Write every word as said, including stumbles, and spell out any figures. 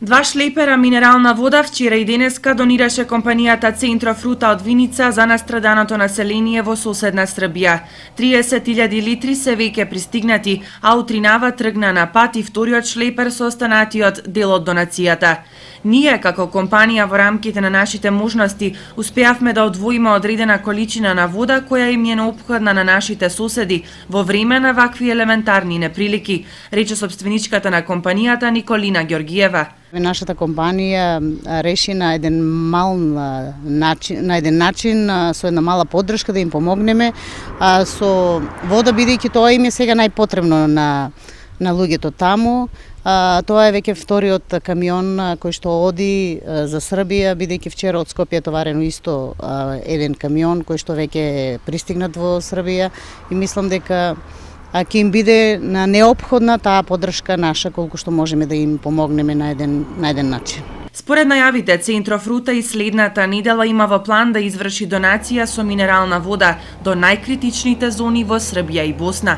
Два шлепера минерална вода вчера и денеска донираше компанијата Центрофрута од Виница за настраданото население во соседна Србија. триесет илјади литри се веќе пристигнати, а утринава тргна на пат и вториот шлепер со останатиот дел од донацијата. Ние, како компанија во рамките на нашите можности, успеавме да одвоиме одредена количина на вода која им е неопходна на нашите соседи во време на вакви елементарни неприлики, рече собственичката на компанијата Николина Ѓоргиева. Нашата компанија реши на еден мал начин, на еден начин со една мала поддршка да им помогнеме со вода, бидејќи тоа им е сега најпотребно на на луѓето таму. Тоа е веќе вториот камион кој што оди за Србија, бидејќи вчера од Скопје е товарено исто еден камион кој што веќе е пристигнат во Србија и мислам дека а ќе им биде на неопходна таа поддршка наша, колку што можеме да им помогнеме на еден на еден начин. Според најавите, Центрофрута и следната недела има во план да изврши донација со минерална вода до најкритичните зони во Србија и Босна.